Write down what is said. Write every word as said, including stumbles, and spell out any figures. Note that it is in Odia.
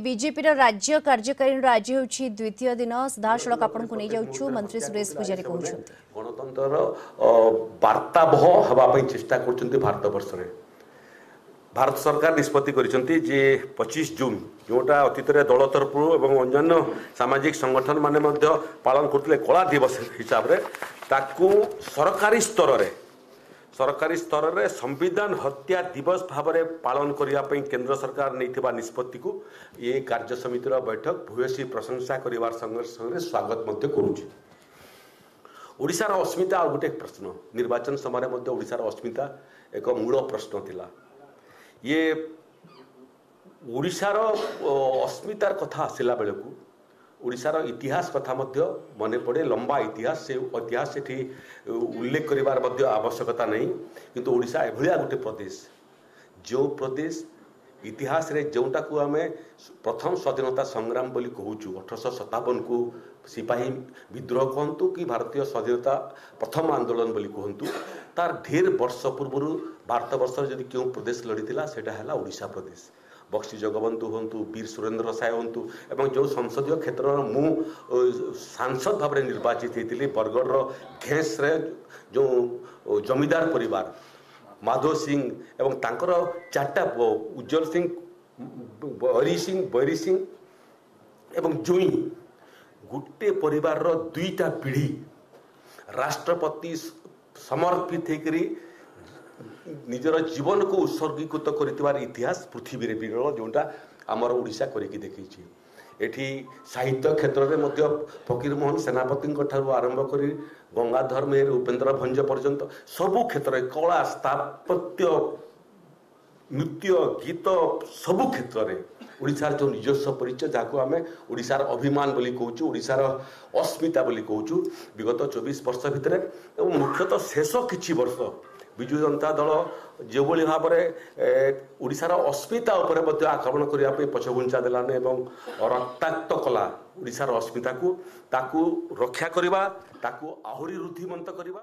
ବିଜେପିର ରାଜ୍ୟ କାର୍ଯ୍ୟକାରିଣୀର ଆଜି ହେଉଛି ଦ୍ୱିତୀୟ ଦିନ। ସିଧାସଳଖ ଆପଣଙ୍କୁ ନେଇଯାଉଛୁ, ମନ୍ତ୍ରୀ ସୁରେଶ ପୂଜାରୀ କହୁଛନ୍ତି। ଗଣତନ୍ତ୍ରର ବାର୍ତ୍ତାବହ ହେବା ପାଇଁ ଚେଷ୍ଟା କରୁଛନ୍ତି। ଭାରତବର୍ଷରେ ଭାରତ ସରକାର ନିଷ୍ପତ୍ତି କରିଛନ୍ତି ଯେ ପଚିଶ ଜୁନ୍, ଯେଉଁଟା ଅତୀତରେ ଦଳ ତରଫରୁ ଏବଂ ଅନ୍ୟାନ୍ୟ ସାମାଜିକ ସଂଗଠନ ମାନେ ମଧ୍ୟ ପାଳନ କରୁଥିଲେ କଳା ଦିବସ ହିସାବରେ, ତାକୁ ସରକାରୀ ସ୍ତରରେ ସରକାରୀ ସ୍ତରରେ ସମ୍ବିଧାନ ହତ୍ୟା ଦିବସ ଭାବରେ ପାଳନ କରିବା ପାଇଁ କେନ୍ଦ୍ର ସରକାର ନେଇଥିବା ନିଷ୍ପତ୍ତିକୁ ଏ କାର୍ଯ୍ୟ ସମିତିର ବୈଠକ ଭୂୟସୀ ପ୍ରଶଂସା କରିବାର ସଙ୍ଗେ ସଙ୍ଗେ ସ୍ୱାଗତ ମଧ୍ୟ କରୁଛି। ଓଡ଼ିଶାର ଅସ୍ମିତା ଆଉ ଗୋଟେ ପ୍ରଶ୍ନ। ନିର୍ବାଚନ ସମୟରେ ମଧ୍ୟ ଓଡ଼ିଶାର ଅସ୍ମିତା ଏକ ମୂଳ ପ୍ରଶ୍ନ ଥିଲା। ଇଏ ଓଡ଼ିଶାର ଅସ୍ମିତାର କଥା ଆସିଲା ବେଳକୁ ଓଡ଼ିଶାର ଇତିହାସ କଥା ମଧ୍ୟ ମନେ ପଡ଼େ। ଲମ୍ବା ଇତିହାସ, ସେ ଇତିହାସ ସେଠି ଉଲ୍ଲେଖ କରିବାର ମଧ୍ୟ ଆବଶ୍ୟକତା ନାହିଁ। କିନ୍ତୁ ଓଡ଼ିଶା ଏଭଳିଆ ଗୋଟେ ପ୍ରଦେଶ, ଯେଉଁ ପ୍ରଦେଶ ଇତିହାସରେ ଯେଉଁଟାକୁ ଆମେ ପ୍ରଥମ ସ୍ୱାଧୀନତା ସଂଗ୍ରାମ ବୋଲି କହୁଛୁ, ଅଠରଶହ ସତାବନକୁ ସିପାହୀ ବିଦ୍ରୋହ କୁହନ୍ତୁ କି ଭାରତୀୟ ସ୍ୱାଧୀନତା ପ୍ରଥମ ଆନ୍ଦୋଳନ ବୋଲି କୁହନ୍ତୁ, ତାର ଢେର ବର୍ଷ ପୂର୍ବରୁ ଭାରତବର୍ଷରେ ଯଦି କେଉଁ ପ୍ରଦେଶ ଲଢ଼ିଥିଲା, ସେଇଟା ହେଲା ଓଡ଼ିଶା ପ୍ରଦେଶ। ବକ୍ସି ଜଗବନ୍ଧୁ ହୁଅନ୍ତୁ, ବୀର ସୁରେନ୍ଦ୍ର ସାଏ ହୁଅନ୍ତୁ, ଏବଂ ଯେଉଁ ସଂସଦୀୟ କ୍ଷେତ୍ରର ମୁଁ ସାଂସଦ ଭାବରେ ନିର୍ବାଚିତ ହେଇଥିଲି, ବରଗଡ଼ର ଘେଁସରେ ଯେଉଁ ଜମିଦାର ପରିବାର ମାଧବ ସିଂ ଏବଂ ତାଙ୍କର ଚାରିଟା ପୁଅ ଉଜ୍ଜଳ ସିଂ, ହରି ସିଂ, ବୈରୀ ସିଂ ଏବଂ ଜୁଇଁ, ଗୋଟେ ପରିବାରର ଦୁଇଟା ପିଢ଼ି ରାଷ୍ଟ୍ରପତି ସମର୍ପିତ ହେଇକରି ନିଜର ଜୀବନକୁ ଉତ୍ସର୍ଗୀକୃତ କରିଥିବାର ଇତିହାସ ପୃଥିବୀରେ ବିରଳ, ଯେଉଁଟା ଆମର ଓଡ଼ିଶା କରିକି ଦେଖେଇଛି। ଏଠି ସାହିତ୍ୟ କ୍ଷେତ୍ରରେ ମଧ୍ୟ ଫକୀରମୋହନ ସେନାପତିଙ୍କ ଠାରୁ ଆରମ୍ଭ କରି ଗଙ୍ଗାଧର ମେହେର, ଉପେନ୍ଦ୍ର ଭଞ୍ଜ ପର୍ଯ୍ୟନ୍ତ ସବୁ କ୍ଷେତ୍ରରେ, କଳା, ସ୍ଥାପତ୍ୟ, ନୃତ୍ୟ, ଗୀତ, ସବୁ କ୍ଷେତ୍ରରେ ଓଡ଼ିଶାର ଯେଉଁ ନିଜସ୍ୱ ପରିଚୟ, ଯାହାକୁ ଆମେ ଓଡ଼ିଶାର ଅଭିମାନ ବୋଲି କହୁଛୁ, ଓଡ଼ିଶାର ଅସ୍ମିତା ବୋଲି କହୁଛୁ, ବିଗତ ଚବିଶ ବର୍ଷ ଭିତରେ ଏବଂ ମୁଖ୍ୟତଃ ଶେଷ କିଛି ବର୍ଷ ବିଜୁ ଜନତା ଦଳ ଯେଉଁଭଳି ଭାବରେ ଓଡ଼ିଶାର ଅସ୍ମିତା ଉପରେ ମଧ୍ୟ ଆକ୍ରମଣ କରିବା ପାଇଁ ପଛଘୁଞ୍ଚା ଦେଲାନି ଏବଂ ରକ୍ତାକ୍ତ କଲା ଓଡ଼ିଶାର ଅସ୍ମିତାକୁ, ତାକୁ ରକ୍ଷା କରିବା, ତାକୁ ଆହୁରି ରୁଦ୍ଧିମନ୍ତ କରିବା।